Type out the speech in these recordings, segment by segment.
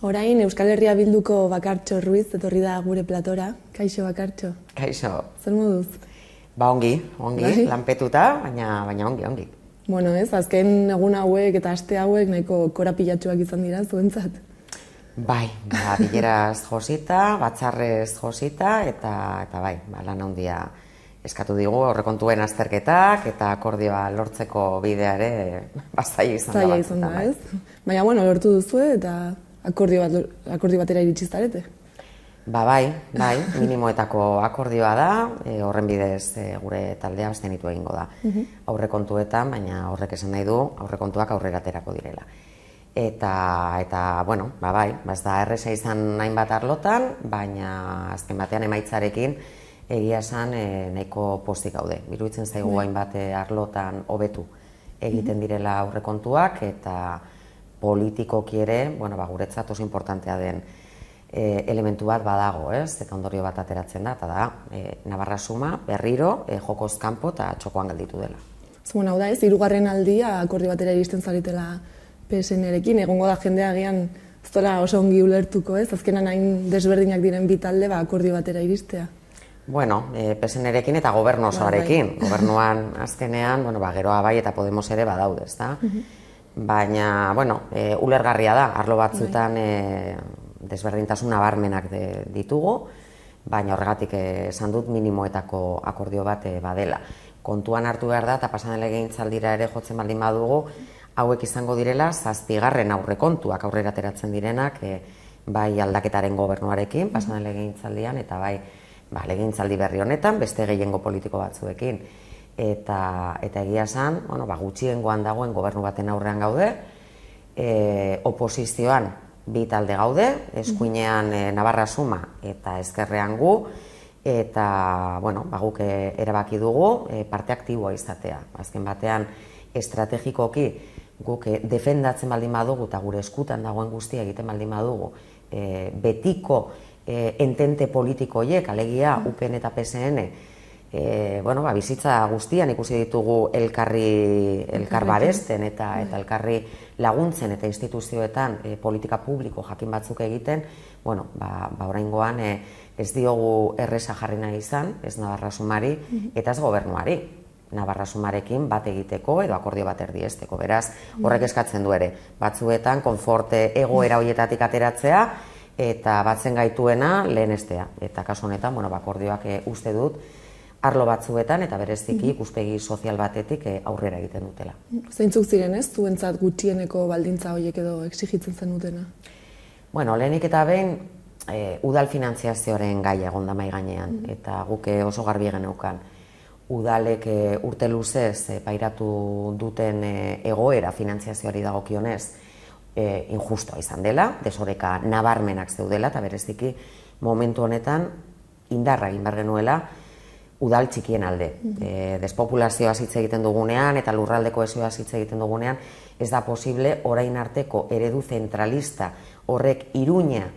Orain Euskal Herria Bilduko Bakartxo Ruiz etorri da gure platora. Kaixo Bakartxo. Kaixo. Zer moduz? Ba ongi, lanpetuta, baina ongi. Bueno, azken egun hauek eta aste hauek nahiko korapilatsuak izan dira zuentzat. Bai, bileraz josita, batzarrez josita, eta bai, lan handia eskatu digu aurrekontuen azterketak eta akordioa lortzeko bideare zaila izan da. Ez? Baina, lortu duzue eta akordio batera iritsi zarete. Bai, minimoetako akordioa da, horren bidez gure taldea abstenitu egingo da. Aurrekontuetan, baina horrek esan nahi du aurrekontuak aurrera aterako direla. Eta bai, ez da erresa izan hainbat arlotan, baina azken batean emaitzarekin egia esan nahiko pozik gaude. Iruditzen zaigu hainbat arlotan hobetu egiten direla aurrekontuak, eta politikoki ere, guretzat oso importantea den elementu bat badago, eta ondorio bat ateratzen da, eta da, Navarra Suma berriro jokoz kanpo eta txokoan gelditu dela. Zuen hau da ez, 3. aldia akordio batera iristen zaretela PSN-erekin, egongo da jendea agian ez dola oso ongi ulertuko, ez? Azkenan hain desberdinak diren bi talde akordio batera iristea. Bueno, PSN-erekin eta gobernu osoarekin. Gobernuan azkenean, geroa bai eta Podemos ere badaude, ezta? Baina, ulergarria da, arlo batzutan desberdintasun nabarmenak ditugu, baina horregatik esan dut minimoetako akordio bat badela. Kontuan hartu behar da, eta pasan legegintzaldira ere jotzen baldin badugu, hauek izango direla 7. aurrekontuak aurrera ateratzen direnak, bai aldaketaren gobernuarekin, pasan legegintzaldian, eta bai legegintzaldi berri honetan, beste gehiengo politiko batzuekin. Eta egia esan, gutxiengoan dagoen gobernu baten aurrean gaude, oposizioan bi talde gaude, eskuinean Navarra Suma eta ezkerrean gu, eta guk erabaki dugu parte aktiboa izatea. Azken batean, estrategikoki guk defendatzen baldin badugu eta gure eskutan dagoen guztia egiten baldin badugu, betiko entente politiko horiek, alegia UPN eta PSN, bizitza guztian ikusi ditugu elkar babesten eta elkarri laguntzen eta instituzioetan politika publiko jakin batzuk egiten, oraingoan ez diogu erresa jarri nahi izan, ez Navarra Sumari eta ez gobernuari. Navarra Sumarekin bat egiteko edo akordio bat erdiesteko. Beraz, horrek eskatzen du ere, batzuetan konforte egoera horietatik ateratzea eta batzen gaituena lehenestea. Eta kasu honetan, akordioak uste dut arlo batzuetan eta bereziki ikuspegi sozial batetik aurrera egiten dutela. Zeintzuk ziren ez, zuentzat gutxieneko baldintza horiek edo exigitzen zenutena? Lehenik eta behin udal finantziazioaren gaia egon da mahai gainean, eta guk oso garbi geneukan. Udalek urte luzez pairatu duten egoera finantziazioari dagokionez injustoa izan dela, desoreka nabarmenak zeudela, eta bereziki momentu honetan indarra egin behar genuela udal txikien alde. Despopulazioa hitz egiten dugunean eta lurraldeko kohesioa hitz egiten dugunean, ez da posible orain arteko eredu zentralista horrek Iruña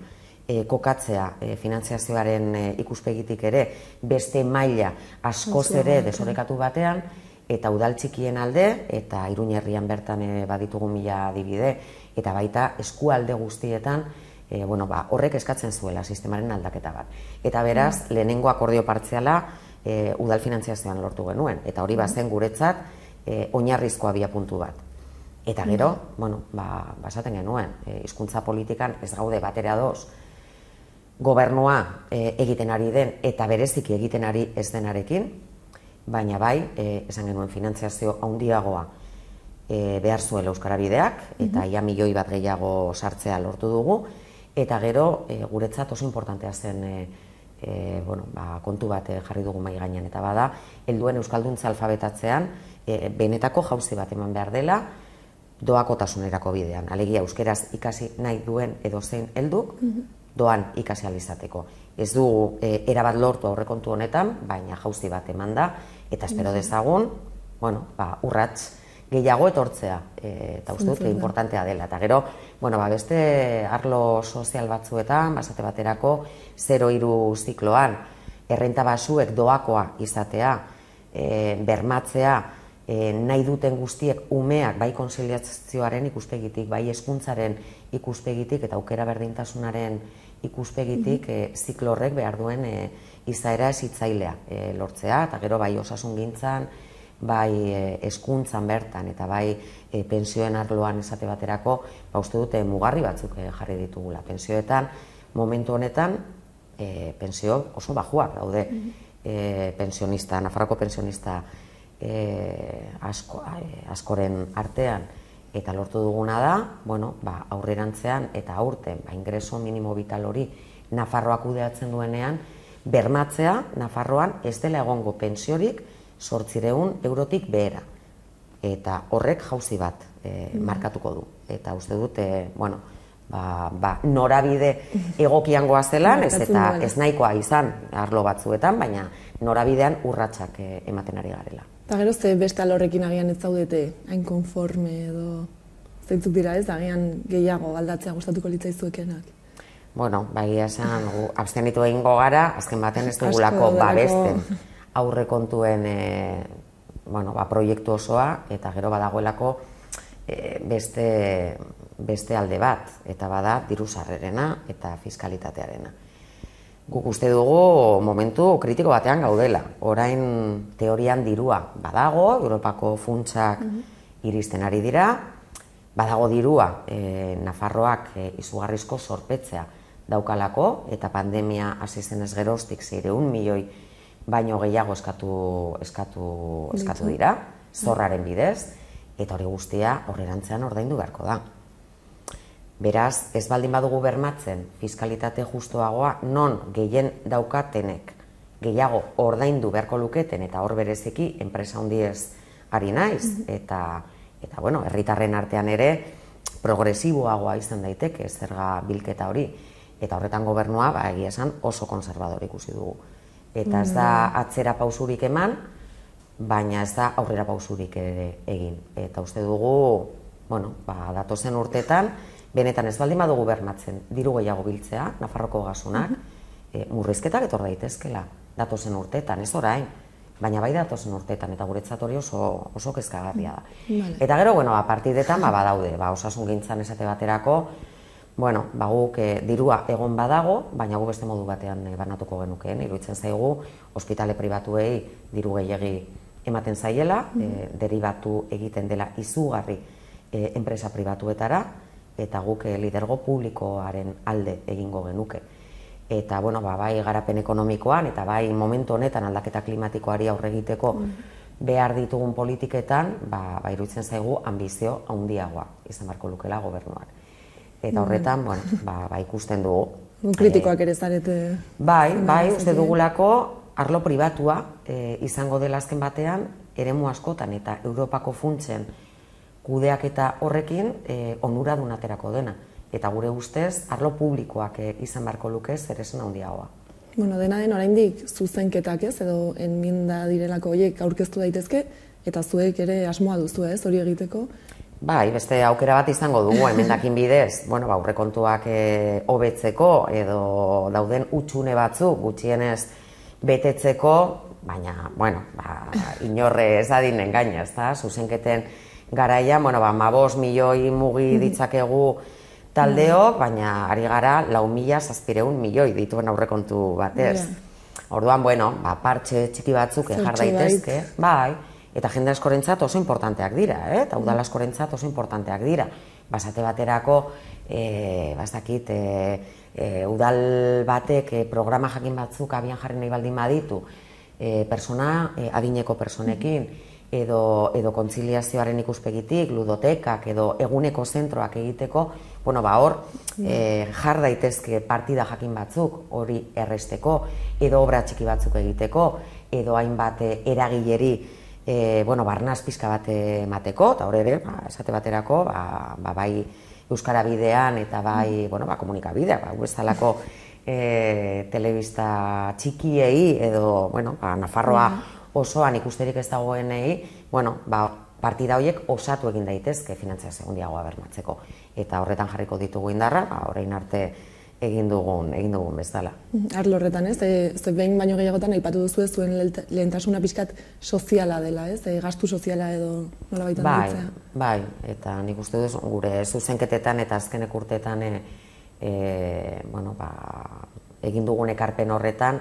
kokatzea finantziazioaren ikuspegitik ere beste maila askoz ere desorekatu batean, eta udal txikien alde, eta Iruña herrian bertan baditugu 1000 adibide, eta baita eskualde guztietan horrek eskatzen zuela sistemaren aldaketa bat. Eta beraz, lehenengo akordio partziala udal finantziazioan lortu genuen, eta hori bazen guretzat oinarrizko abiapuntu bat. Eta gero, basaten genuen, hizkuntza politikan ez gaude batera ados, gobernua egiten ari den eta bereziki egiten ari ez denarekin, baina bai, esan genuen finantziazio handiagoa behar zuela Euskara Bideak, eta ia 1 milioi bat gehiago sartzea lortu dugu, eta gero guretzat oso importantea zen kontu bat jarri dugu mahai gainean, eta bada, helduen euskalduntza alfabetatzean benetako jauzi bat eman behar dela doakotasunerako bidean. Alegia, euskeraz ikasi nahi duen edozein helduk, doan ikasi ahal izateko. Ez dugu erabat lortu aurrekontu honetan, baina jauzi bat eman da, eta espero dezagun, urrats gehiago etortzea, eta uste dut importantea dela. Eta gero, beste arlo sozial batzuetan, basate baterako, 0-3 zikloan, errenta basuek doakoa izatea, bermatzea, nahi duten guztiek umeak bai kontziliazioaren ikuspegitik, bai hezkuntzaren ikuspegitik eta aukera berdintasunaren ikuspegitik ziklo horrek behar duen izaera hezitzailea lortzea, eta gero bai osasungintzan, bai hezkuntzan bertan eta bai pentsioen arloan esate baterako, uste dute mugarri batzuk jarri ditugula. Pentsioetan, momentu honetan, pentsio oso bajuak daude pensionista, Nafarroko pensionista askoren artean, eta lortu duguna da, aurrerantzean eta aurten, ingreso minimo vital hori Nafarroak kudeatzen duenean, bermatzea Nafarroan ez dela egongo pentsiorik 800 eurotik behera. Eta horrek jauzi bat markatuko du. Eta uste dut, norabide egokian goazelan, ez nahikoa izan arlo batzuetan, baina norabidean urratsak ematen ari garela. Eta gero ze beste alorrekin agian ez zaudete, hain konforme edo zeintzuk dira ez, agian gehiago aldatzea gustatuko litzaizuekenak? Bueno, esan, abstenitu egingo gara, azken baten ez dugulako babesten aurrekontuen proiektu osoa, eta gero badagoelako beste alde bat, eta bada diru sarrerena eta fiskalitatearena. Guk uste dugu momentu kritiko batean gaudela. Orain teorian dirua badago, Europako funtsak iristen ari dira, badago dirua Nafarroak izugarrizko zorpetzea daukalako, eta pandemia hasi zenez geroztik 600 milioi baino gehiago eskatu dira, zorraren bidez, eta hori guztia horrerantzean ordaindu beharko da. Beraz, ez baldin badugu bermatzen fiskalitate justuagoa non gehien daukatenek gehiago ordaindu beharko luketen, eta hor bereziki enpresa handiez ari naiz, eta herritarren artean ere progresiboagoa izan daiteke zerga bilketa hori, eta horretan gobernua egia esan oso konservador ikusi dugu. Eta ez da atzera pausurik eman, baina ez da aurrera pausurik ere egin. Eta uste dugu, datozen urteetan, benetan ez baldin badugu bermatzen diru gehiago biltzea, Nafarroko gasunak, murrizketak etor daitezkela datozen urteetan, ez orain, baina bai datozen urteetan, eta guretzat hori oso kezkagarria da. Eta gero, partidetan badaude, osasungintzan esate baterako, guk dirua egon badago, baina gu beste modu batean banatuko genukeen, iruditzen zaigu, ospitale pribatuei diru gehiegi ematen zaiela, deribatu egiten dela izugarri enpresa pribatuetara, eta guk lidergo publikoaren alde egingo genuke. Eta, bai garapen ekonomikoan, eta bai momentu honetan aldaketa klimatikoari aurre egiteko behar ditugun politiketan, iruditzen zaigu ambizio handiagoa izan beharko lukela gobernuak. Eta horretan, ikusten dugu. Kritikoak ere zarete. Bai, uste dugulako arlo pribatua izango dela azken batean, eremu askotan eta Europako funtsen kudeaketa horrekin onuradun aterako dena. Eta gure ustez, arlo publikoak izan beharko luke zeresan handiagoa. Dena den oraindik zuzenketak ez, edo enmienda direlako horiek aurkeztu daitezke, eta zuek ere asmoa duzu ez, hori egiteko? Bai, beste aukera bat izango dugu, emendakin bidez, aurrekontuak hobetzeko edo dauden hutsune batzuk gutxienez betetzeko, baina, inorre ez adin engaina, ezta? Zuzenketen garaia, 15 milioi mugi ditzakegu taldeok, baina ari gara 4.700 milioi dituen aurrekontu batez. Orduan, partxe txiki batzuk jar daitezke, bai, eta jende askorentzat oso importanteak dira, eta udal askorentzat oso importanteak dira. Basate baterako, udal batek programa jakin batzuk abian jarri nahi baldin baditu, adineko personekin, edo kontziliazioaren ikuspegitik, ludotekak, edo eguneko zentroak egiteko, hor jar daitezke partida jakin batzuk hori erresteko, edo obra txiki batzuk egiteko, edo hainbat eragileri barnaz pixka bat emateko, eta hori ere, esate baterako, bai Euskara bidean eta bai komunikabideak, bezalako telebista txikiei edo Nafarroa osoan ikusterik ez dagoenei, partida horiek osatu egin daitezke finantziazio handiagoa bermatzeko. Eta horretan jarriko ditugu indarra, orain arte egin dugun bezala. Arlo horretan, ez? Ze behin baino gehiagotan aipatu duzu ez zuen lehentasuna pixkat soziala dela, ez? Gastu soziala edo nola baitan ditzea. Bai, eta nik uste duz gure zuzenketetan eta azkenek urteetan egin dugun ekarpen horretan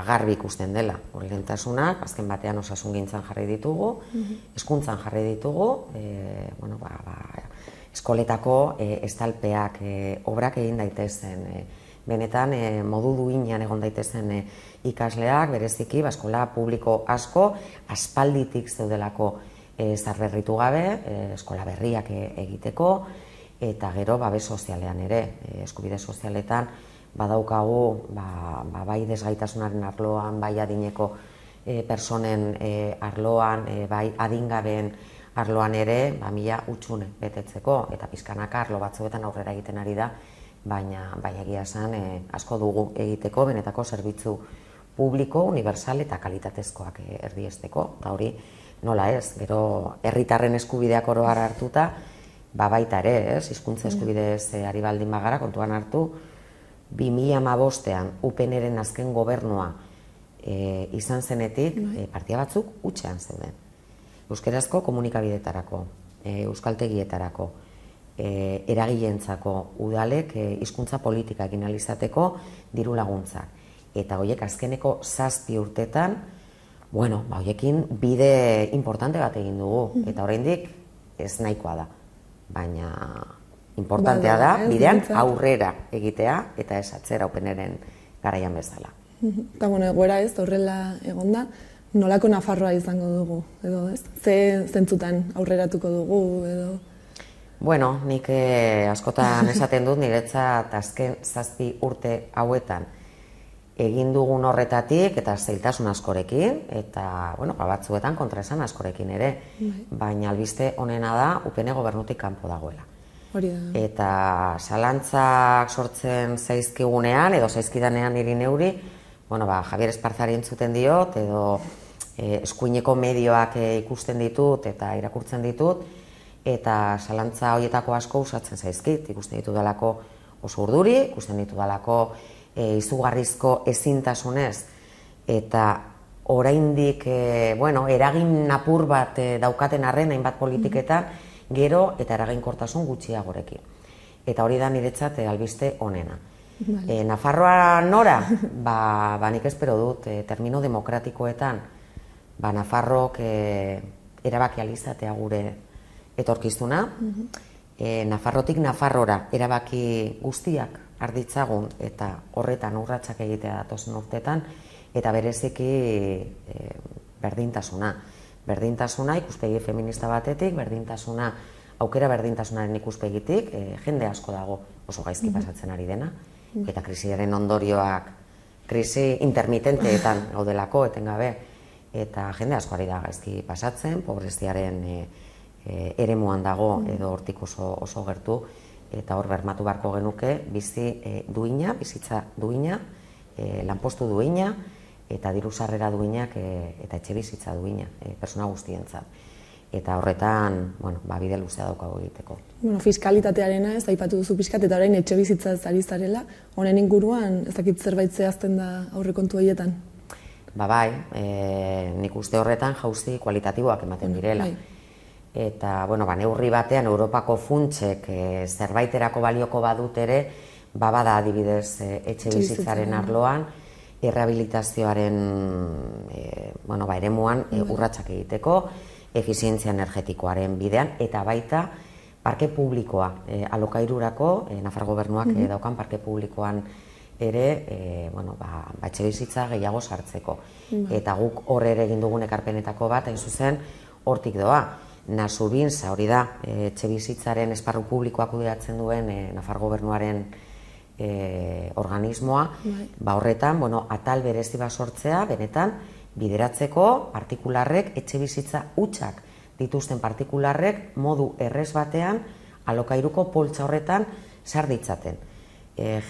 agarbi ikusten dela. Lehentasunak, azken batean osasungintzan jarri ditugu, hezkuntzan jarri ditugu, eskoletako estalpeak, obrak egin daitezen, benetan modu duinean egon daitezen ikasleak, bereziki, eskola publiko asko, aspalditik zeudelako zarberritu gabe, eskola berriak egiteko, eta gero babes sozialean ere, eskubide sozialetan, badaukagu, bai desgaitasunaren arloan, bai adineko personen arloan, bai adingabeen arloan ere, mila utxune betetzeko, eta pizkanaka arlo batzuetan aurrera egiten ari da, baina egia esan asko dugu egiteko, benetako zerbitzu publiko, universal eta kalitatezkoak erdiesteko, eta hori nola ez, gero herritarren eskubideak oro har hartuta, baita ere, hizkuntza eskubidez ari baldin bagara, kontuan hartu, 2015ean UPNren azken gobernua izan zenetik, partia batzuk hutsean zeuden. Euskerazko komunikabideetarako, euskaltegietarako, eragileentzako udalek hizkuntza politika egin ahal izateko diru laguntzak. Eta horiek azkeneko 7 urtetan, horiekin bide importante bat egin dugu, eta oraindik ez nahikoa da. Baina importantea da, bidean aurrera egitea eta ez atzera UPNren garaian bezala. Eta egoera ez, horrela egonda, nolako Nafarroa izango dugu, edo ez? Ze zentzutan aurreratuko dugu, edo? Nik askotan esaten dut niretzat azken 7 urte hauetan egin dugun horretatik eta zailtasun askorekin, eta batzuetan kontraesan askorekin ere, baina albiste onena da UPN gobernutik kanpo dagoela. Eta zalantzak sortzen zaizkigunean, edo zaizkidanean niri neuri, Javier Esparzari entzuten diot, edo eskuineko medioak ikusten ditut eta irakurtzen ditut, eta zalantza horietako asko usatzen zaizkit, ikusten ditu dalako oso urduri, ikusten ditu dalako izugarrizko ezintasunez, eta oraindik eragin apur bat daukaten arren hainbat politiketan, gero eta eraginkortasun gutxiagorekin. Eta hori da niretzat albiste onena. Nafarroa nora? Nik espero dut, termino demokratikoetan, Nafarrok erabaki alizatea gure etorkizuna, Nafarrotik Nafarrora erabaki guztiak arditzagun eta horretan urratsak egitea datozen urtetan, eta bereziki berdintasuna. Berdintasuna ikuspegi feminista batetik, berdintasuna aukera berdintasunaren ikuspegitik, jende asko dago oso gaizki pasatzen ari dena, eta krisiaren ondorioak, krisi intermitenteetan gaudelako, etengabe, eta jende asko ari da gaizki pasatzen, pobreziaren eremuan dago edo hortik oso gertu, eta hor bermatu beharko genuke bizi duina, bizitza duina, lanpostu duina, eta diru sarrera duinak eta etxe bizitza duina, persona guztientzat. Eta horretan, bide luzea daukago egiteko. Fiskalitatearena ez aipatu duzu pixkat, eta orain etxe bizitza ez ari zarela, honen inguruan ez dakit zerbait zehazten da aurrekontu horietan? Bai, nik uste horretan jauzi kualitatiboak ematen direla. Eta, neurri batean, Europako funtsek zerbaiterako balioko badut ere, bada adibidez etxe bizitzaren arloan, errehabilitazioaren eremuan urratsak egiteko, efizientzia energetikoaren bidean, eta baita parke publikoa alokairurako, Nafar gobernuak daukan parke publikoan ere, etxe bizitza gehiago sartzeko. Eta guk horre ere egin dugun ekarpenetako bat, hain zuzen, hortik doa. Nasubintza hori da, etxe bizitzaren esparru publikoa kudeatzen duen Nafar gobernuaren organismoa, horretan, atal berezi bat sortzea, benetan, bideratzeko partikularrek, etxe bizitza hutsak dituzten partikularrek modu errez batean alokairuko poltsa horretan sar ditzaten.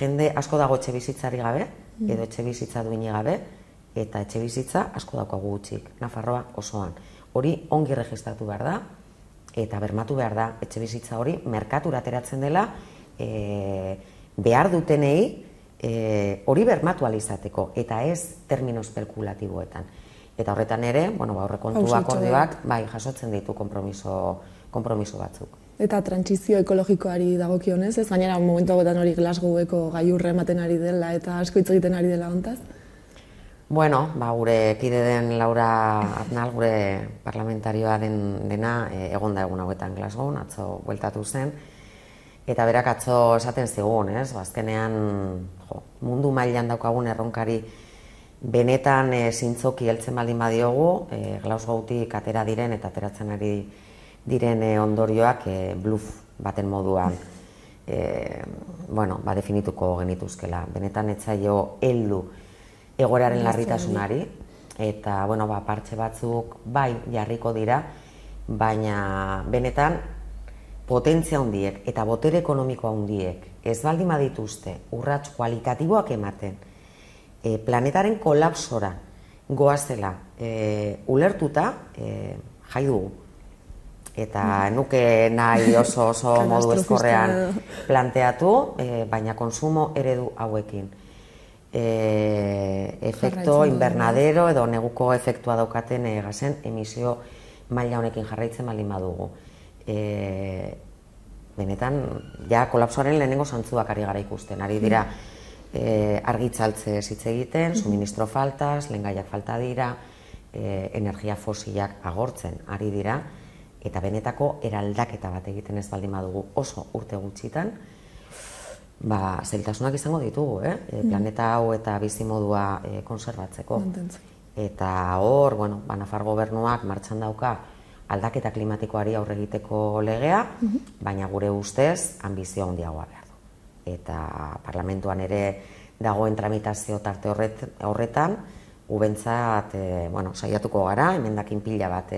Jende asko dago etxe bizitzari gabe, edo etxe bizitza duini gabe, eta etxe bizitza asko daukagu gutxik, Nafarroa osoan. Hori ongi registratu behar da, eta bermatu behar da etxe bizitza hori merkatura ateratzen dela behar dutenei hori bermatu alizateko, eta ez termino espekulatiboetan. Eta horretan ere, aurrekontu akordioak jasotzen ditu konpromiso batzuk. Eta trantsizio ekologikoari dagokionez, ez gainera momentu hauetan hori Glasgoweko gailurra ematen ari dela eta asko hitz egiten ari dela hontaz? Gure kide den Laura Arnal, gure parlamentarioa dena, egon da egun hauetan Glasgow, atzo bueltatu zen, eta berak atzo esaten zigun, azkenean mundu mailan daukagun erronkari benetan zintzoki heltzen baldin badiogu, Glasgowtik atera diren eta ateratzen ari diren ondorioak bluff baten moduan definituko genituzkela. Benetan etzaio heldu egoeraren larritasunari, eta partxe batzuk jarriko dira, baina benetan potentzia handiek eta botere ekonomiko handiek ez baldin badituzte urrats kualitatiboak ematen planetaren kolapsora goazela ulertuta jai dugu. Eta nuke nahi oso modu ezkorrean planteatu, baina konsumo eredu hauekin. Efekto invernadero edo neguko efektua daukaten gasen emisio maila honekin jarraitzen baldin badugu. Benetan, ja kolapsoaren lehenengo zantzuak ari gara ikusten, ari dira argitzaltze hitz egiten, suministro faltaz, lehengaiak falta dira, energia fosilak agortzen ari dira, eta benetako eraldaketa bat egiten ez baldin badugu oso urte gutxitan, zailtasunak izango ditugu, planeta hau eta bizimodua konserbatzeko. Eta hor, Nafar gobernuak martxan dauka aldaketa klimatikoari aurre egiteko legea, baina gure ustez anbizio handiagoa behar du. Eta parlamentuan ere dagoen tramitazio tarte horretan, gubentzat saiatuko gara, emendakin pila bat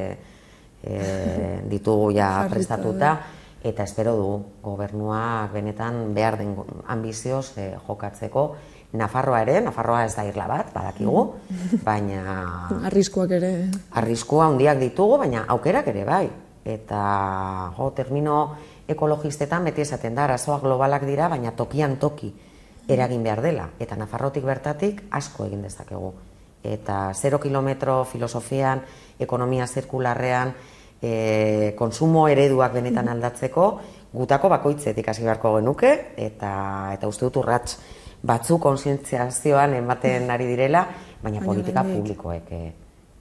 ditugu ja prestatuta, eta espero du gobernuak benetan behar den ambizioz jokatzeko. Nafarroa ez da irla bat, badakigu, baina... Arriskuak ere. Arriskua handiak ditugu, baina aukerak ere bai. Eta termino ekologistetan beti esaten da, arazoak globalak dira, baina tokian toki eragin behar dela. Eta Nafarrotik bertatik asko egin dezakegu. Eta 0 kilometro filosofian, ekonomia zirkularrean, konsumo ereduak benetan aldatzeko, gutako bakoitzetik hasi beharko genuke, eta uste dut urrats batzu kontzientziazioan ematen ari direla, baina politika publikoek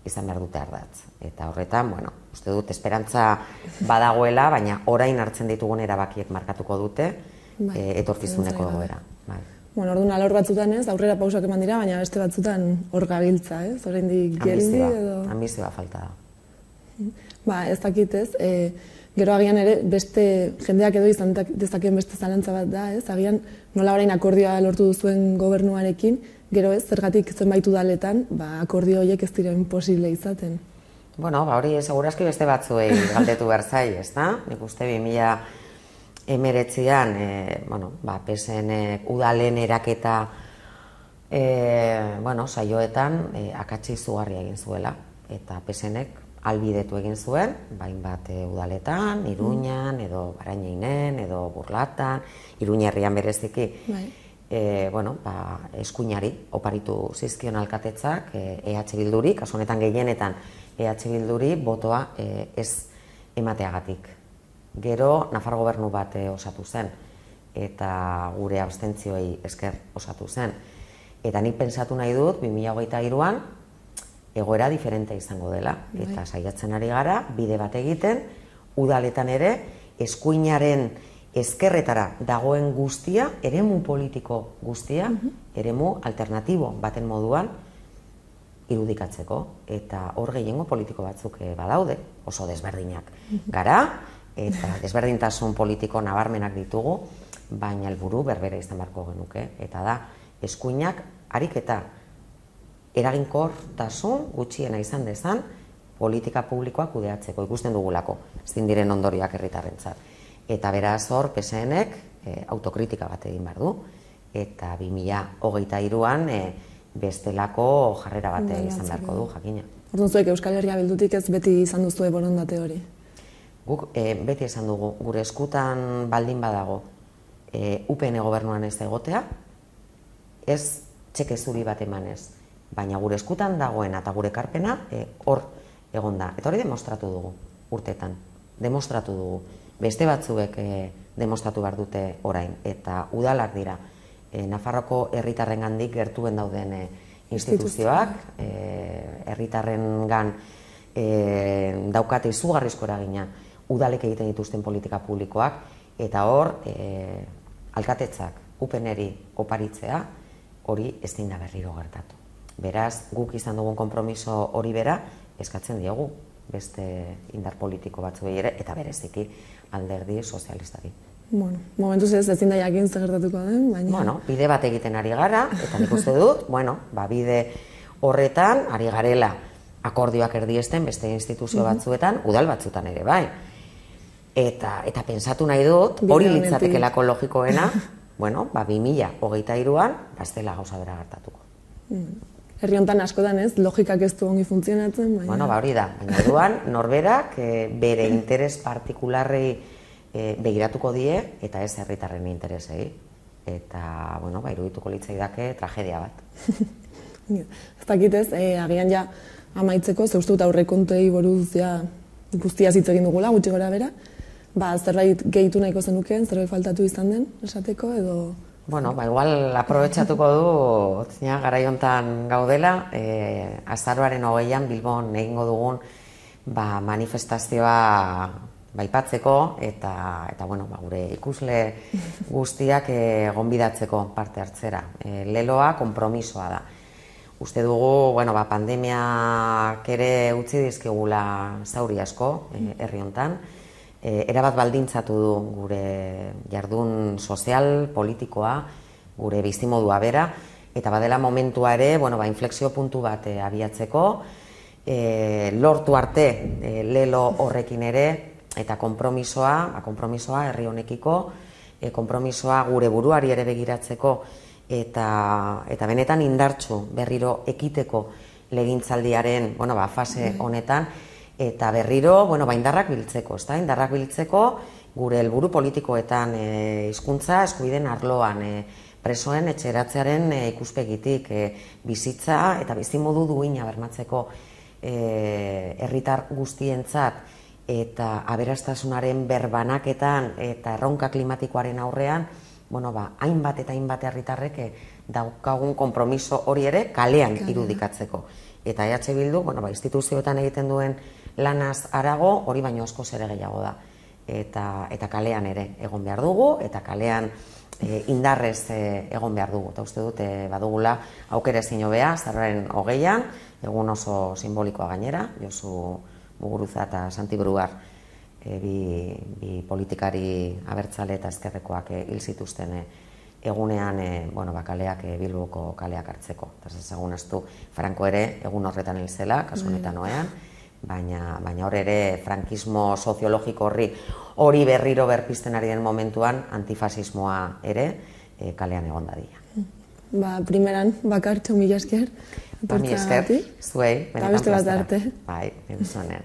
izan behar dute ardatz. Eta horretan, uste dut esperantza badagoela, baina orain hartzen ditugun erabakiek markatuko dute etorkizuneko egoera. Orduan alor batzutan ez, aurrera pausak eman dira, baina beste batzutan hor gabiltza, ez? Oraindik geldi edo... Ambizioa falta da. Ez dakit ez, gero agian ere beste jendeak edo izan dezakeen beste zalantza bat da, ez? Agian nola orain akordioa lortu duzuen gobernuarekin, gero ez, zergatik zenbait udaletan, akordio horiek ez dira imposible izaten. Hori segurazki beste batzuei galdetu behar zai, ez da? Nik uste 2019an, PSN udalen eraketa saioetan akatsi izugarria egin zuela, eta PSNek albidetu egin zuen, bat udaletan, Iruñan, edo Barañeinen, edo Burlatan, Iruña herrian bereziki, eskuinari oparitu zizkion alkatetzak, EH Bilduri, kasu honetan gehienetan EH Bilduri botoa ez emateagatik. Gero, Nafar gobernu bat osatu zen, eta gure abstentzioei esker osatu zen. Eta nik pentsatu nahi dut, 2023an, egoera diferente izango dela, eta saiatzen ari gara, bide bat egiten, udaletan ere, eskuinaren ezkerretara dagoen guztia, eremu politiko guztia, eremu alternatibo baten moduan irudikatzeko, eta hor gehiengo politiko batzuk badaude, oso desberdinak gara, eta desberdintasun politiko nabarmenak ditugu, baina helburu berbera izan beharko genuke, eta da, eskuinak ariketa eraginkortasun gutxiena izan dezan politika publikoak kudeatzeko, ikusten dugulako, ezin diren ondorioak herritarrentzat. Eta beraz hor, PSNek autokritika bat egin behar du, eta 2023an bestelako jarrera bat izan beharko du, jakina. Orduan zuek Euskal Herria Bildutik ez beti izan duzue borondate hori? Guk beti esan dugu, gure eskutan baldin badago, UPN gobernuan ez egotea, ez txeke zuri bat emanez, baina gure eskutan dagoena eta gure ekarpena hor egon da. Eta hori demostratu dugu urteetan, demostratu dugu. Beste batzuek demostratu behar dute orain, eta udalak dira Nafarroko herritarrengandik gertuen dauden instituzioak, herritarrengan daukate izugarrizko eragina udalek egiten dituzten politika publikoak, eta hor alkatetzak UPN-eri oparitzea hori ezin da berriro gertatu. Beraz, guk izan dugun konpromiso hori bera eskatzen diogu beste indar politiko batzuei ere, eta bereziki alderdi sozialistari. Bueno, momentuz ezin da jakin zer gertatuko den, baina... Bueno, bide bat egiten ari gara, eta nik uste dut, bide horretan ari garela akordioak erdiesten beste instituzio batzuetan, udal batzuetan ere bai. Eta pensatu nahi dut, hori litzatekelako logikoena, 2023an, ez dela gauza bera gertatuko. Herri hontan askotan ez, logikak ez du ongi funtzionatzen, baina... Hori da, baina duan, norberak bere interes partikularrei begiratuko die, eta ez herritarren interesei. Eta, irudituko litzaidake tragedia bat. Ez dakitez, agian ja amaitzeko, zeustut aurrekontuei buruz guztia hitz egin dugula, gutxi gora bera, zerbait gehitu nahiko zenukeen, zerbait faltatu izan den, esateko, edo... Igual aprobetxatuko du, garai hontan gaudela, azaroaren 20an Bilbon egingo dugun manifestazioa baipatzeko, eta gure ikusle guztiak gonbidatzeko parte hartzera. Leloa konpromisoa da. Uste dugu, pandemiak ere utzi dizkigula zauri asko herri hontan, erabat baldintzatu du gure jardun sozial, politikoa, gure bizimodua bera, eta badela momentua ere, inflexio puntu bat abiatzeko, lortu arte lelo horrekin ere, eta konpromisoa herri honekiko, konpromisoa gure buruari ere begiratzeko, eta benetan indartsu berriro ekiteko legintzaldiaren fase honetan, eta berriro indarrak biltzeko, indarrak biltzeko gure helburu politikoetan hizkuntza eskubideen arloan, presoen etxeratzearen ikuspegitik, bizitza eta bizimodu duina bermatzeko herritar guztientzat, eta aberastasunaren berbanaketan eta erronka klimatikoaren aurrean, hainbat eta hainbat herritarrek daukagun konpromiso hori ere kalean irudikatzeko. Eta EH Bildu, instituzioetan egiten duen lanaz harago, hori baino askoz ere gehiago da. Eta kalean ere egon behar dugu, eta kalean indarrez egon behar dugu. Eta uste dute badugula aukera ezin hobea, azaroaren 20an, egun oso simbolikoa gainera, Josu Muguruza eta Santi Brugar, bi politikari abertzale eta ezkerrekoak hil zituzten egunean kaleak, Bilboko kaleak hartzeko. Eta ezagun astu, Franco ere egun horretan hil zela, kasu honetan oean, baina hor ere frankismo soziologiko hori berriro berpizten ari den momentuan antifasismoa ere kalean egon dadila. Primeran, bakartxo, mila esker. Mila esker, zuei, benetan plazera. Bai, benetan.